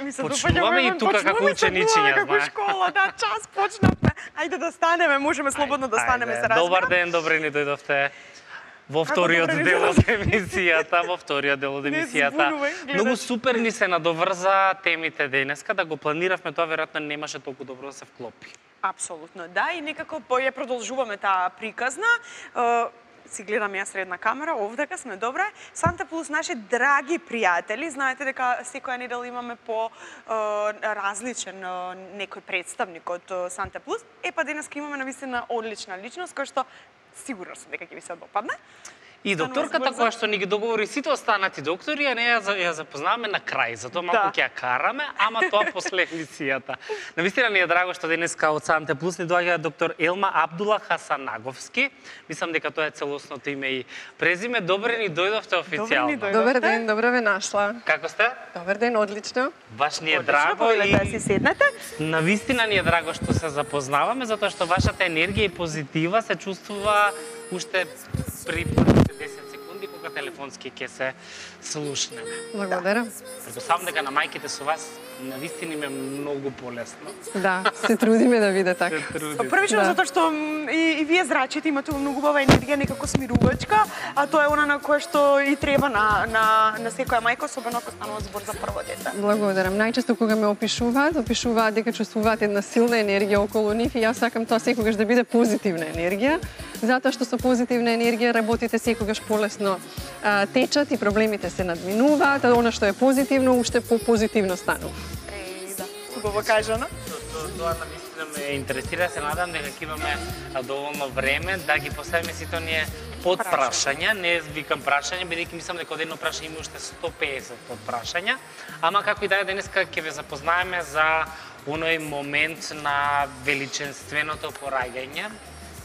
ми се Почнуваме и тука како ученичиња, како школа, да, час почнавме. Ајде да станеме, можеме слободно да станеме, се разбира. Добар ден, добре ни дојдовте. Во вториот дел од емисијата, Многу супер ни се надоврза темите денеска, да го планиравме тоа, веројатно немаше толку добро да се вклопи. Апсолутно, да, и некако ја продолжуваме таа приказна. Си гледам ја средна камера, овдека сме добре. Санта Плюс, наши драги пријатели, знаете дека секоја недела имаме по различен некој представник од Санта Плюс. Па денеска имаме навистина одлична личност, која што сигурно сум дека ќе ви се допадне. И докторката која што ни ги договори сите останати доктори, а не ја запознаваме на крај, затоа малку ќе ја караме, ама тоа после емисијата. Навистина ни е драго што денеска од Санте Плюс ни доаѓа доктор Елма Абдула Хасанаговски. Мислам дека тоа е целосното име и презиме. Добре ни дојдовте официјално. Добар ден, добро ве нашла. Како сте? Добар ден, одлично. Баш ни е драго и да си седнете. навистина ни е драго што се запознаваме, затоа што вашата енергија и позитива се чувствува уште при 10 секунди кога телефонски ќе се слушнеме. Благодарам. Предпоставам дека на мајките со вас навистина им е многу полесно. Да, се трудиме да биде така. Првично затоа што и вие зрачите имате многу убава енергија, некако смирувачка, а тоа е она на кое што и треба на секоја мајка, особено ако станува збор за прво дете. Благодарам. Најчесто кога ме опишуваат дека чувствуваат една силна енергија околу нив и јас сакам тоа секогаш да биде позитивна енергија, затоа што со позитивна енергија работите секогаш полесно течат и проблемите се надминуваат, а она што е позитивно уште попозитивно станува. Да, убаво кажано. Тоа навистина ме интересира, се надам дека ќе имаме доволно време да ги поставиме сите оние подпрашања, не викам прашања, бидејќи мислам дека од едно прашање има уште 150 подпрашања, ама како и да е денеска ќе ве запознаеме за оној момент на величенственото пораѓање,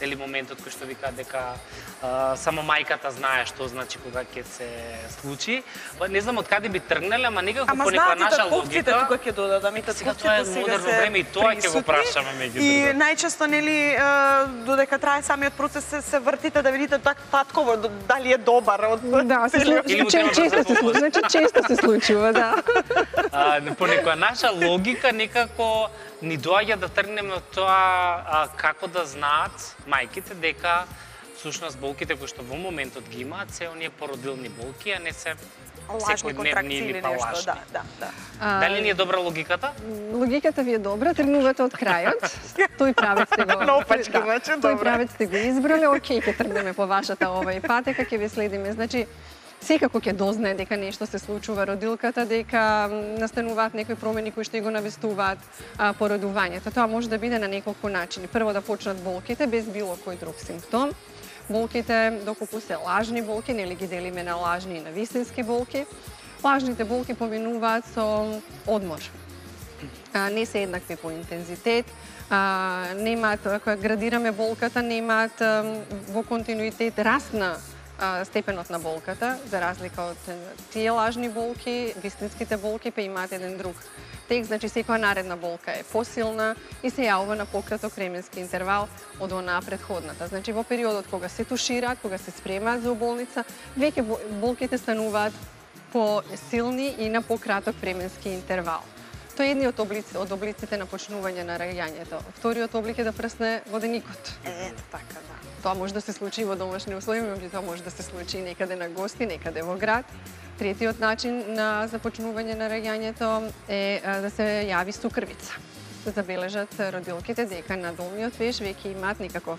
дали моментот кој што вика дека само мајката знае што значи кога ќе се случи. Не знам од каде би тргнале, ама некако по некоја наша логика. Ама тука ќе додадам и сега тоа е модерно време и тоа ќе го прашаме меѓу другото. И најчесто нели додека трае самиот процес се вртите да видите татково дали е добар од да, често се случува, да. По некоја наша логика некако ни доаѓа да тргнеме од тоа како да знаат мајките дека всушност болките кои што во моментот ги имаат се оние породилни болки, а не се секојдневни или лажни. Дали ни е добра логиката? Логиката ви е добра, тргнувате од крајот. Тој правец сте го. Тој правец сте го избрале, окей, ќе тргнеме по вашата патека, ќе ви следиме. Значи, секако ќе дознае дека нешто се случува родилката, дека настануваат некои промени кои што го навестуваат породувањето. Тоа може да биде на неколку начини. Прво да почнат болките без било кој друг симптом. Болките, доколку се лажни болки, нели ги делиме на лажни и на вистински болки. Лажните болки поминуваат со одмор. Не се еднакви по интензитет, немаат, кога градираме болката, немаат во континуитет расна степенот на болката, за разлика од тие лажни болки, вистинските болки па имаат еден друг текст, значи секоја наредна болка е посилна и се јавува на пократок временски интервал од онаа претходната. Значи во периодот кога се тушираат, кога се спремаат за болница, веќе болките стануваат посилни и на пократок временски интервал. Тоа е едниот од облиците на почнување на раѓањето. Вториот облик е да прсне воденикот. Ето така, да. Тоа може да се случи во домашни услови, меѓутоа може да се случи некаде на гости, некаде во град. Третиот начин на започнување на раѓањето е да се јави сукрвица. Да забележат родилките дека на долниот веш веќе имаат некаков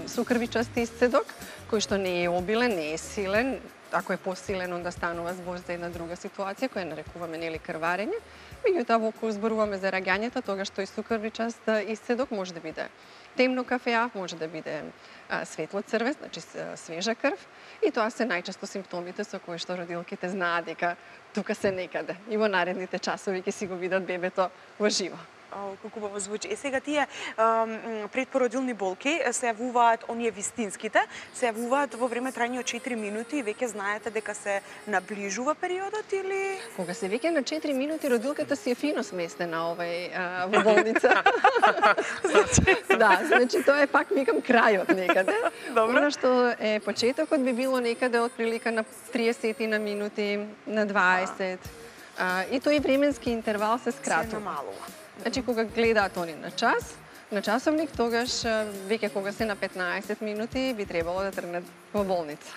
сукрвичаст исцедок, кој што не е обилен, не е силен. Ако е посилен, онда станува збор за една друга ситуација, која нарекуваме нели крварење. Меѓутоа, ако зборуваме за раѓањето, тогаш тој сукрвичаст исцедок може да биде темно кафеав, може да биде светло црвен, значи свежа крв. И тоа се најчесто симптомите со кои што родилките знаат дека тука се некаде. И во наредните часови ќе си го видат бебето во живо. Колку убаво звучи. Сега тие предпородилни болки се јавуваат, оние вистинските, се јавуваат во време трајање од 4 минути и веќе знаете дека се наближува периодот или... Кога се веќе на 4 минути, родилката си е фино сместена во болница. Да, значи тоа е пак викам крајот некаде. Она што е почетокот би било некаде од прилика на 30 на минути, на 20. И тој временски интервал се скратува. Се намалува. Значи, кога гледаат они на часовник, тогаш веќе кога се на 15 минути би требало да тргнат во болница.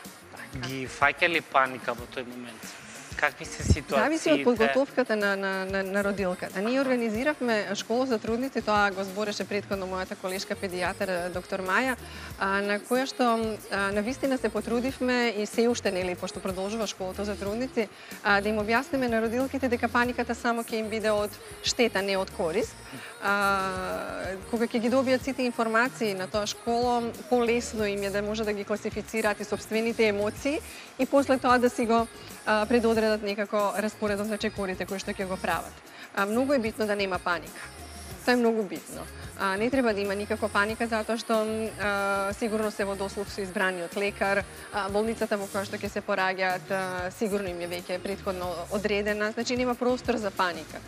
Ги фаќа ли паника во тој момент? Какви се ситуациите? Зависи од подготовката на родилката. Ние организиравме школа за трудници, тоа го збореше претходно мојата колешка педијатар доктор Маја, на која што навистина се потрудивме и се уште нели пошто продолжува школата за трудници, да им објасниме на родилките дека паниката само ќе им биде од штета, не од корист. Кога ќе ги добијат сите информации на тоа школа, полесно им е да може да ги класифицираат и собствените емоции и после тоа да си го предодредат некако распоредот на чекорите кои што ќе го прават. Многу е битно да нема паника. Тоа е многу битно. Не треба да има никаква паника затоа што сигурно се во дослуг со избраниот лекар, болницата во која што ќе се пораѓаат сигурно им е веќе претходно одредена, значи нема простор за паника.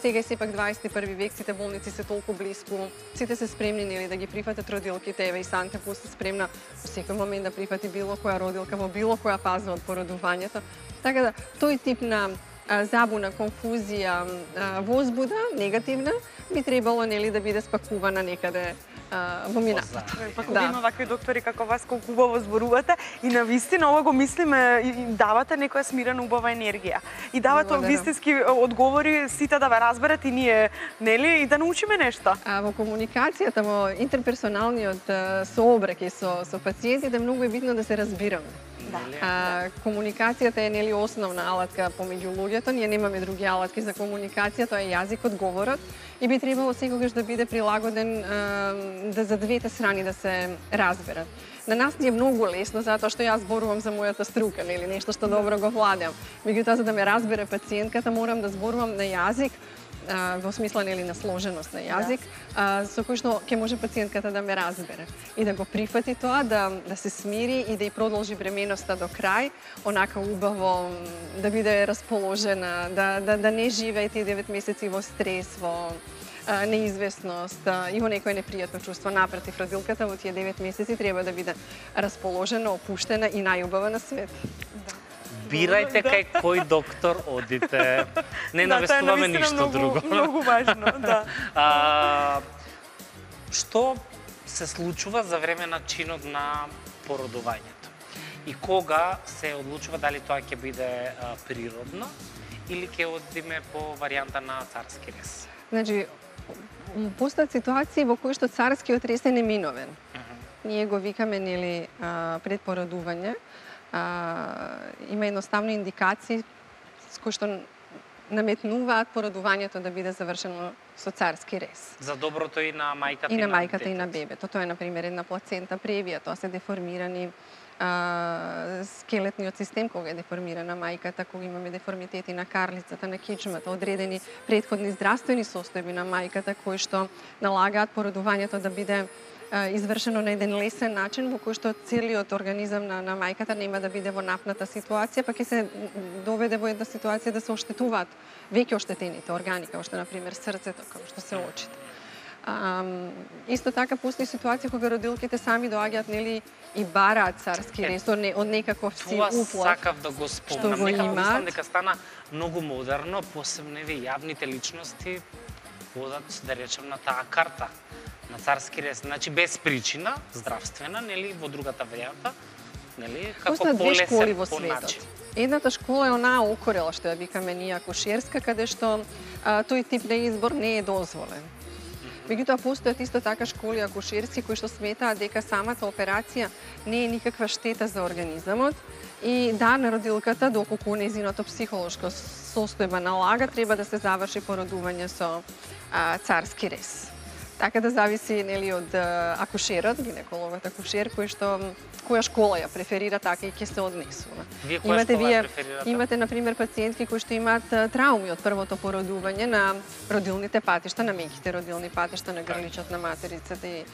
Сега е сепак 21 век, сите болници се толку блиску, сите се спремни нели да ги прифатат родилките, еве и Санте Плюс се спремна во секој момент да прифати било која родилка во било која фаза од породувањето. Така да тој тип на забуна, конфузија, возбуда, негативна, би требало нели да биде спакувана некаде во минатото. Па кога има вакви доктори како вас, колку убаво зборувате и навистина ова го мислиме и давате некоја смирена убава енергија. И давате вистински одговори сите да ве разберат и ние, нели, и да научиме нешто. Во комуникацијата, во интерперсоналниот сообраќај со пациентите многу е битно да се разбираме. Комуникацијата е нели основна алатка помеѓу луѓето, ние немаме други алатки за комуникација, тоа е јазикот, говорот и би требало секогаш да биде прилагоден да за двете страни да се разберат. На нас ни е многу лесно затоа што јас зборувам за мојата струка, нели нешто што добро го владеам. Меѓутоа за да ме разбере пациентката морам да зборувам на јазик во смисла нели на сложеност на јазик, со кој што ќе може пациентката да ме разбере и да го прифати тоа, да се смири и да ја продолжи бременоста до крај, онака убаво, да биде расположена, да не живее тие 9 месеци во стрес, во неизвестност и во некој непријатно чувство. Напротив, родилката во тие 9 месеци треба да биде расположена, опуштена и најубава на свет. Бирајте кај кој доктор одите. Не навестуваме ништо друго. Многу важно, да. Што се случува за време на чинот на породувањето? И кога се одлучува дали тоа ќе биде природно или ќе одиме по варијанта на царски рез? Значи, постојат ситуации во кои што царскиот рез е неминовен. Ние го викаме нели пред породување. Има едноставно индикации с кои што наметнуваат породувањето да биде завршено со царски рез. За доброто и на мајката и на мајката и на бебето. Тоа е на пример една плацента превија, тоа се деформирани скелетниот систем кога е деформирана мајката, кога имаме деформитети на карлицата, на кичмата, одредени претходни здравствени состојби на мајката кои што налагаат породувањето да биде извршено на еден лесен начин во кој што целиот организам на мајката нема да биде во напната ситуација, па ќе се доведе во една ситуација да се оштетуваат веќе оштетените органи, како што на пример срцето, како што се очите. Исто така постои ситуација кога родилките сами доаѓаат нели и бараат царски рез од некаков си уплав. Тоа сакав да го спомнам, мислам дека стана многу модерно, посебно јавните личности одат, да речем, на таа карта на царски рез, значи без причина здравствена, нели во другата варијанта, нели како полесен по начин. Едната школа е онаа окорела што ја викаме ние акушерска, каде што тој тип на избор не е дозволен. Меѓутоа постојат исто така школи акушерски кои што сметаат дека самата операција не е никаква штета за организамот и да, на родилката, доколку нејзиното психолошко состојба налага, треба да се заврши породување со царски рез. Така да зависи нели од акушерот, гинекологот акушер која школа ја преферира, така и ќе се однесува. Вие која школа ја преферирате? Имате на пример пациентки кои што имаат трауми од првото породување на родилните патишта, на меките родилни патишта, на грличот на материцата и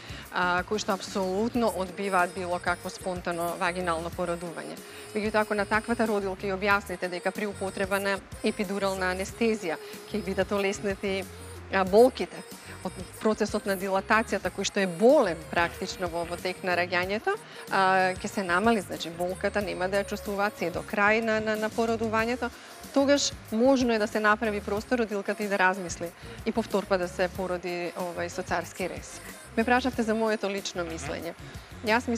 кои што апсолутно одбиваат било какво спонтано вагинално породување. Меѓутоа, ако на таквата родилка ја објасните дека при употреба на епидурална анестезија ќе бидат олеснети болките од процесот на дилатацијата кој што е болен практично во тек на раѓањето, ќе се намали, значи болката нема да ја чувствуваат се до крај на породувањето, тогаш можно е да се направи простор родилката и да размисли и повторпа да се породи со царски рез. Ме прашавте за моето лично мислење. Јас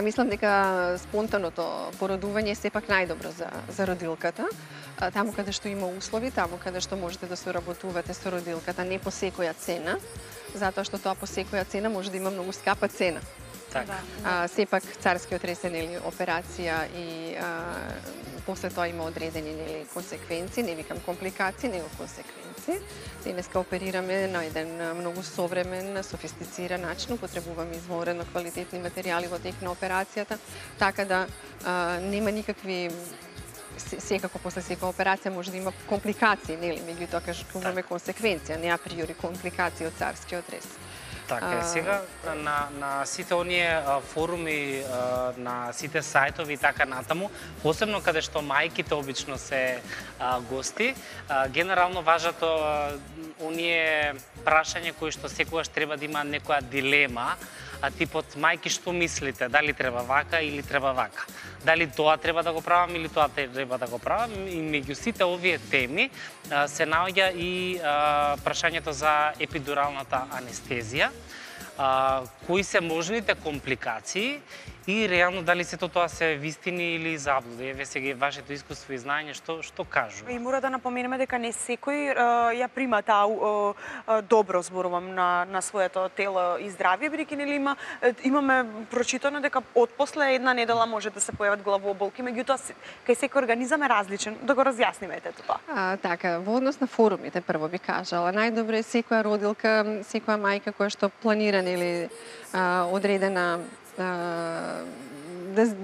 мислам дека спонтаното породување е сепак најдобро за родилката. Таму каде што има услови, таму каде што можете да соработувате со родилката, не по секоја цена, затоа што тоа по секоја цена може да има многу скапа цена. Сепак царскиот рез е операција и после тоа има одредени консеквенции, не викам компликации, него консеквенции. Денеска оперираме на еден многу современ, софистициран начин, употребуваме изворено квалитетни материјали во тек на операцијата, така да нема никакви. Секако после секоја операција може да има компликации, нели, меѓутоа кажуваме консеквенција, не априори компликации од царскиот рез. Така е, сега на сите оние форуми, на сите сајтови и така натаму, посебно каде што мајките обично се гости, генерално важат оние прашања кои што секогаш треба да има некоја дилема, типот мајки што мислите, дали треба вака или треба вака? Дали тоа треба да го правам или тоа треба да го правам? И меѓу сите овие теми се наоѓа и прашањето за епидуралната анестезија, кои се можните компликации и реално дали сето тоа се вистини или заблуди. Еве сега вашето искуство и знаење што кажува. И мора да напоменеме дека не секој ја прима таа добро, зборувам, на своето тело и здравје, бидејќи нели имаме прочитано дека отпосле една недела може да се појават главоболки, меѓутоа кај секој организам е различен. Да го разјасниме тоа. Така, во однос на форумите прво би кажала, најдобро е секоја родилка, секоја мајка која што планира нели одредена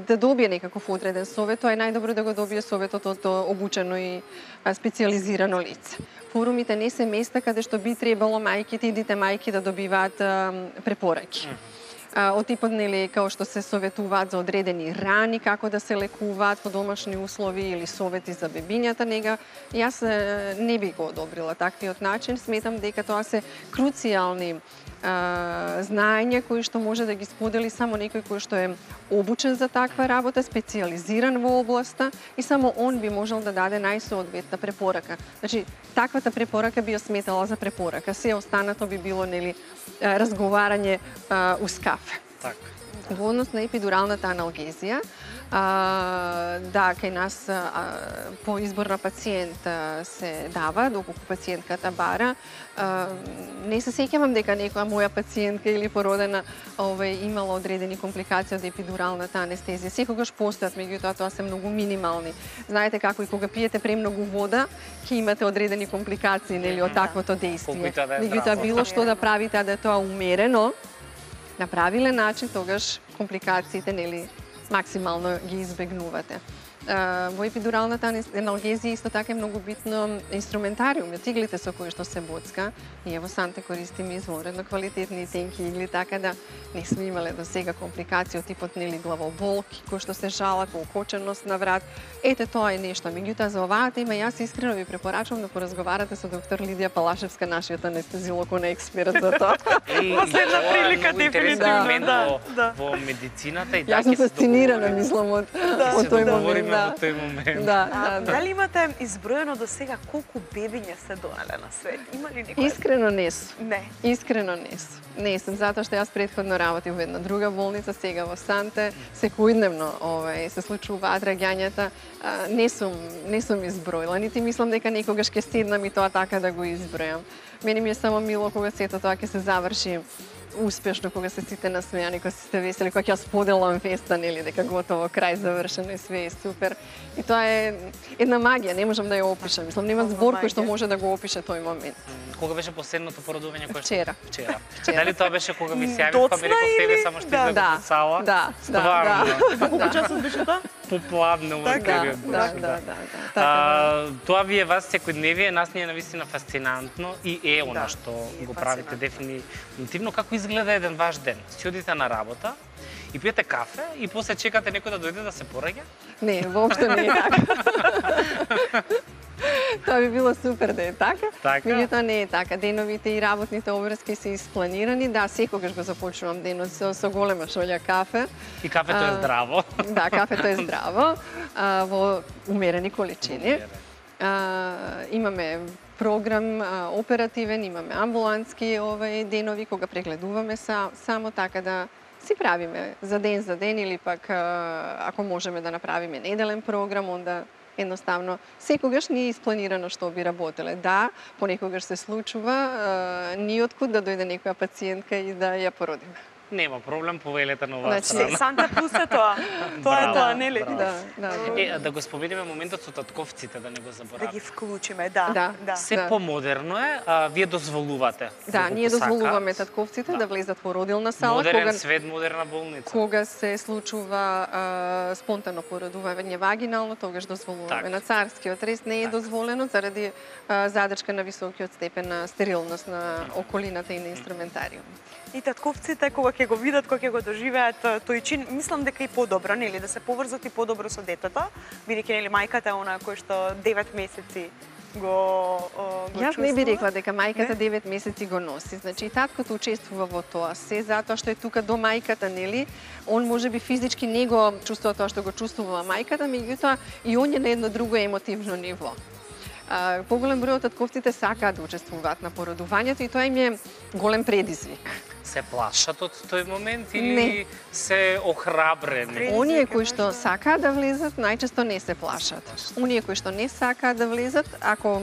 да добие некаков одреден совет, тоа е најдобро да го добие советот од обучено и специјализирано лице. Форумите не се места каде што би требало мајките и дите мајки да добиваат препораки. Од типот нели како што се советуваат за одредени рани, како да се лекуваат по домашни услови или совети за бебињата, нега јас не би го одобрила таквиот начин. Сметам дека тоа се круцијални знаења кои што може да ги сподели само некој кој што е обучен за таква работа, специјализиран во областа и само он би можел да даде најсоодветна препорака. Значи, таквата препорака би ја сметала за препорака, се останато би било нели разговарање уз кафе. Така. Во однос на епидуралната аналгезија, да, кај нас по избор на пациент се дава, доколку пациентката бара. Не се сеќавам дека некоја моја пациентка или породена имала одредени компликации од епидуралната анестезија. Секогаш постојат, меѓутоа тоа се многу минимални. Знаете како и кога пиете премногу вода, ќе имате одредени компликации нели од таквото дејствие. Меѓутоа било што да правите, да е тоа умерено, на правилен начин, тогаш компликациите нели максимално ги избегнувате. Во епидуралната аналгезија исто така е многу битно инструментариум, иглите со кои што се боцка. Ние во Санте користиме изворено квалитетни тенки игли, така да не сме имале до сега компликации од типот нели главоболки, кои што се жалат, окоченост на врат. Ете тоа е нешто. Меѓутоа за оваа тема јас искрено ви препорачувам да поразговарате со доктор Лидија Палашевска, нашиот анестезиолог, он е експерт за тоа. Последна прилика дефинитивно во медицината и така. Јас сум фасцинирана, мислам, од тој момент. Дали имате изброено до сега колку бебиња се донале на свет? Има ли некој? Искрено не сум. Не. Искрено не сум. Не сум, затоа што јас претходно работив во една друга болница, сега во Санте, секојдневно се случуваат раѓањата. Не сум изброила, нити мислам дека некогаш ќе седнам и тоа така да го избројам. Мене ми е само мило кога сето тоа ќе се заврши успешно, кога се сите насмејани, кога се весели, кога ќе споделам феста, нели, дека готово, крај завршено и све е супер. И тоа е една магија, не можам да ја опишам. Мислам, нема збор кој што може да го опише тој момент. Кога беше последното породување? Вчера. Дали тоа беше кога ми се јавив, па ми реков тебе само што излегов од сала? Да. Колку часот беше тоа? Попладно во период. Да. Тоа ви е вас секојдневие, нас ни е навистина фасцинантно и е она што го правите дефинитивно. Како изгледа еден ваш ден? Си одите на работа и пиете кафе и после чекате некој да дојде да се пораѓа? Не, воопшто не е така. Тоа би било супер да е така. Така? Не е така. Деновите и работните обврски се испланирани. Да, секогаш го започнувам денот со голема шолја кафе. И кафето е здраво. Да, кафето е здраво, во умерени количини. Имаме програм оперативен, имаме амбулантски денови кога прегледуваме само така да си правиме за ден или пак ако можеме да направиме неделен програм, онда едноставно секогаш не е испланирано што би работеле. Да, понекогаш се случува ниоткуд да дојде некоја пациентка и да ја породиме. Нема проблем, повелете на оваа страна. страна. Санта плюс е тоа. Тоа е тоа, нели? Да го спомениме моментот со татковците, да не го забораваме. Да ги вклучиме, да. Се помодерно е, вие дозволувате. Да, ние дозволуваме татковците да влезат во родилна сала. Модерен свет, модерна болница. Кога се случува спонтано породување вагинално, тогаш дозволуваме. На царскиот рез не е дозволено заради задршка на високиот степен на стерилност на околината и на инструментариумот. И татковците кога ќе го видат, кога ќе го доживеат тој чин, мислам дека и подобро, нели, да се поврзат и подобро со детето, бидејќи нели мајката е она кој што 9 месеци го Јас не би рекла дека мајката 9 месеци го носи. Значи и таткото учествува во тоа, се затоа што е тука до мајката, нели? Он можеби физички не го чувствува тоа што го чувствува мајката, меѓутоа и он е на едно друго емотивно ниво. Поголем број од татковците сакаат да учествуваат на породувањето и тоа им е голем предизвик. Се плашат од тој момент или се охрабрени? Оние кои што сакаат да влезат, најчесто не се плашат. Оние кои што не сакаат да влезат, ако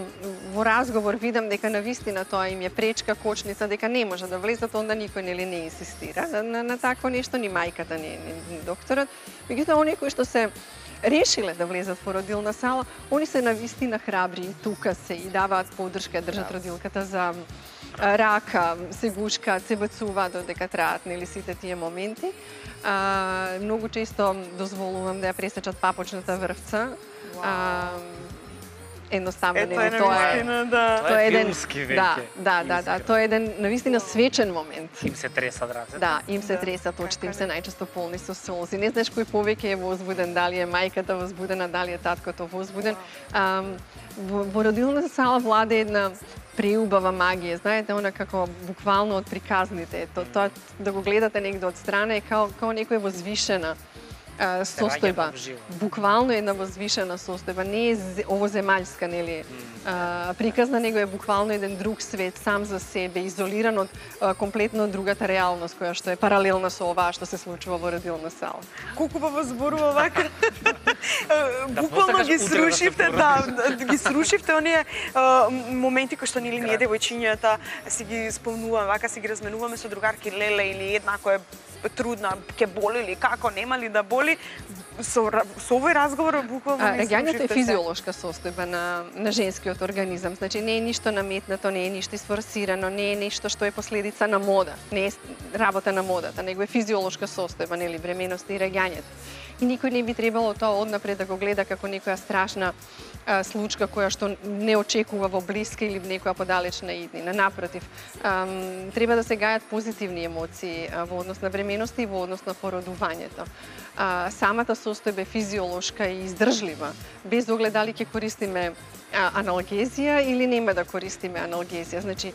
во разговор видам дека навистина тоа им е пречка, кочница, дека не може да влезат, онда никој нели не инсистира на такво нешто, ни мајката, ни докторот. Меѓутоа, оние кои што се решиле да влезат во родилна сала, они се навистина храбри и тука се и даваат поддршка, држат родилката за рака, се гушкаат, се бацуваат додека траат, нели, сите тие моменти. Многу често дозволувам да ја пресечат папочната врвца. Едноставно, нели, тоа е филмски веќе. Да, тоа е еден навистина свечен момент. Им се тресат рацете. Да, им се тресат очите, им се најчесто полни со солзи. Не знаеш кој повеќе е возбуден, дали е мајката возбудена, дали е таткото возбуден. Во родилната сала владе една преубава магија, знаете, она како буквално од приказните. Тоа да го гледате негде од страна е као некоја возвишена состојба. Буквално една возвишена состојба. Не е овоземаљска, нели, приказна, него е буквално еден друг свет, сам за себе, изолиран од комплетно другата реалност, која што е паралелна со оваа што се случува во родилна сала. Колку ба зборува вака. Буквално ги срушивте оние моменти кои што нели ние девојчињата си ги спомнуваме, вака си ги разменуваме со другарки, леле или еднako е трудна, ќе боли или како, нема ли да боли, со овој разговор буквално не раѓањето е физиолошка состојба на женскиот организам. Значи не е ништо наметнато, не е ништо изфорсирано, не е нешто што е последица на мода, не е работа на модата, него е физиолошка состојба, нели, бременоста и раѓањето. И никој не би требало тоа однапред да го гледа како некоја страшна случка која што не очекува во блиска или некоја подалечна иднина. Напротив, треба да се гајат позитивни емоции во однос на бременоста и во однос на породувањето. Самата состојба е физиолошка и издржлива, без оглед дали ќе користиме аналгезија или нема да користиме аналгезија. Значи,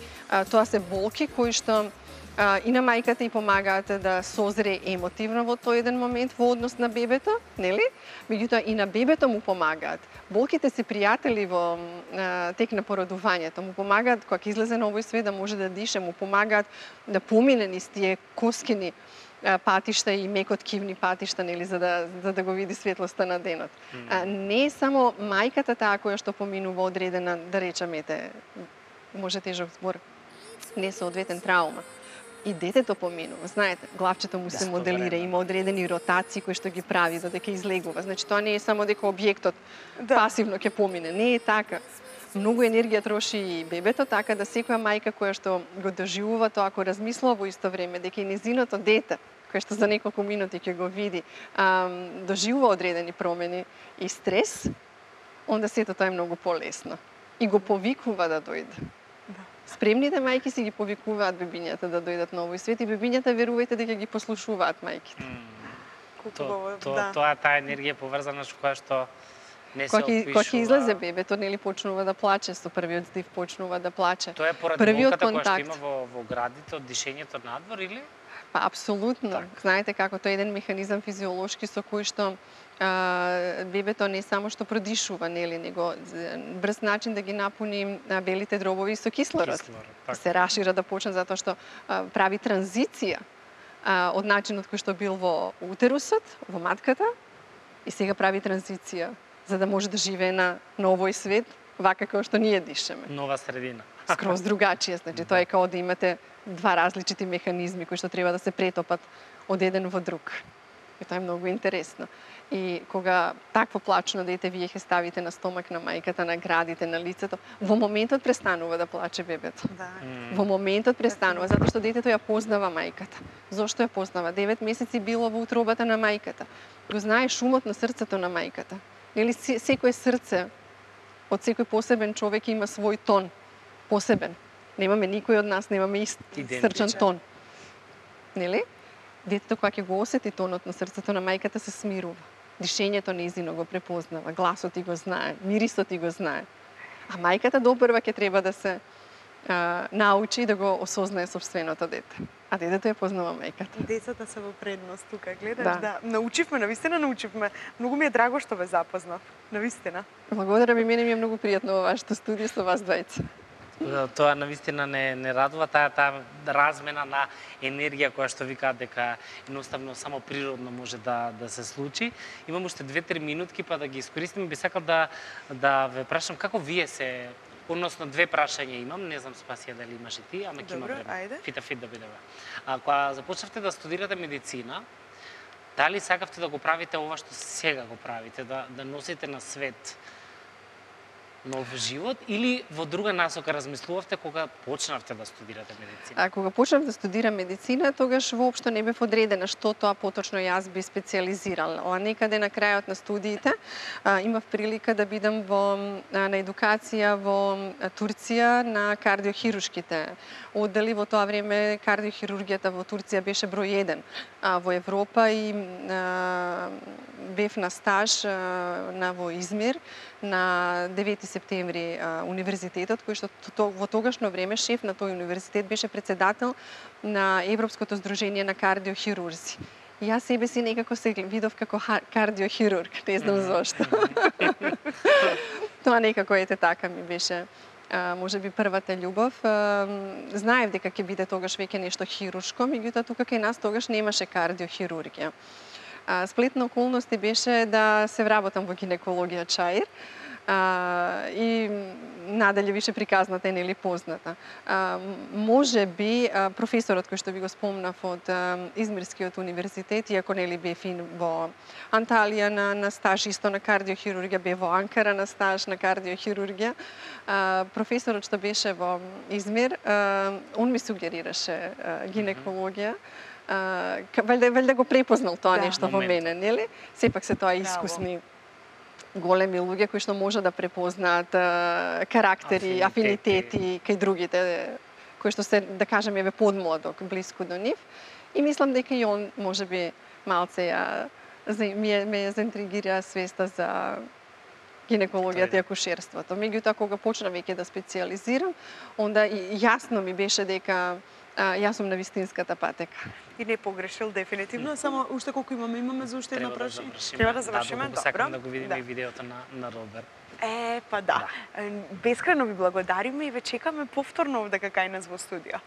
тоа се болки кои што и на мајката и помагаат да созре емотивно во тој еден момент во однос на бебето, нели? Меѓутоа и на бебето му помагаат. Болките се пријатели во тек на породувањето, му помагаат кога ќе излезе на овој свет да може да дише, му помагаат да помине низ тие коскини патишта и мекоткивни патишта, нели, за да го види светлоста на денот. Не е само мајката таа која што поминува одредена, да речеме, може тежок збор, несоодветен траума. И детето поминува, знаете, главчето му се моделира, има одредени ротации кои што ги прави додека излегува. Значи тоа не е само дека објектот пасивно ќе помине, не е така. Многу енергија троши и бебето, така да секоја мајка која што го доживува тоа, ако размислува во исто време дека и незиното дете, кој што за неколку минути ќе го види, доживува одредени промени и стрес, онда сето тоа е многу полесно. И го повикува да дојде. Спремните мајки си ги повикуваат бебињата да дојдат на овој свет и бебињата, верувајте дека ги послушуваат мајките. Тоа таа енергија поврзана со која што Кога ќе излезе бебето, нели почнува да плаче, со првиот здив почнува да плаче. Тоа е поради болката која што има во градите од дишењето надвор или? Па апсолутно. Знаете како тоа е еден механизам физиолошки со кој што бебето не само што продишува, нели, него брз начин да ги напуни белите дробови со кислород. Се рашира да почне затоа што прави транзиција од начинот кој што бил во утерусот, во матката, и сега прави транзиција за да може да живее на овој свет, вака како што ние дишеме. Нова средина. Скроз другачија, значи тоа е како да имате два различити механизми кои што треба да се претопат од еден во друг. И тоа е многу интересно. И кога такво плачно дете вие ќе ставите на стомак на мајката, на градите, на лицето, во моментот престанува да плаче бебето. Да. Во моментот престанува, затоа што детето ја познава мајката. Зошто ја познава? 9 месеци било во утробата на мајката. Го знае шумот на срцето на мајката. Нели секое срце од секој посебен човек има свој тон, посебен. Немаме никој од нас немаме ист срчен тон. Нели? Детето кога ќе го осети тонот на срцето на мајката се смирува. Дишењето нејзино го препознава, гласот и го знае, мирисот и го знае. А мајката допрва ќе треба да се научи да го осознае собственото дете. А детето ја познава мајката. Децата се во предност тука, гледаш, да. Научивме, навистина научивме. Многу ми е драго што ве запознав, навистина. Благодарам, и мене ми е многу пријатно во вашето студио со вас двајца. Тоа навистина не радува, таа размена на енергија која што викаат дека едноставно само природно може да се случи. Имам уште 2-3 минутки па да ги искористим. Би сакал да ве прашам како вие се, односно 2 прашања имам, не знам Спасија дали имаш и ти, ама ќе има време. Фит да бидеме. Кога започнавте да студирате медицина, дали сакавте да го правите ова што сега го правите, да носите на свет нов живот, или во друга насока размислувавте кога почнавте да студирате медицина? Кога почнав да студирам медицина, тогаш воопшто не бев одредена што тоа поточно јас би специализирала. Некаде на крајот на студиите имав прилика да бидам на едукација во Турција на кардиохирушките оддели. Во тоа време кардиохирургијата во Турција беше број 1 во Европа и бев на стаж во Измир на 9 септември универзитетот, кој што во тогашно време шеф на тој универзитет беше председател на Европското здружение на кардиохирурзи. И јас себе си некако се видов како кардиохирург, не знам зошто. Тоа некако така ми беше можеби првата љубов. Знаев дека ќе биде тогаш веќе нешто хируршко, меѓутоа тука кај нас тогаш немаше кардиохирургија. Сплет на околности беше да се вработам во гинекологија Чаир и надале више приказната е нели позната. Може би професорот кој што ви го спомнав од Измирскиот универзитет, иако нели бев и во Анталија на стаж исто на кардиохирургија, бев во Анкара на стаж на кардиохирургија, професорот што беше во Измир, он ми сугерираше гинекологија. Валјда го препознал тоа нешто во мене, нели? Сепак се тоа искусни големи луѓе кои што може да препознаат карактери, афинитети кај другите, кои што се, да кажеме, подмладок, блиску до нив. И мислам дека и он можеби малце ме заинтригира свеста за гинекологијата и акушерството. Меѓутоа кога почнав веќе да специјализирам, онда и јасно ми беше дека јас сум на вистинската патека. И не погрешил дефинитивно, само уште колку имаме за уште едно прашање. Треба да завршиме, добро. Сакам да го видиме и видеото на Роберт. Па да. Бескрајно ви благодариме и ве чекаме повторно овде кај нас во студио.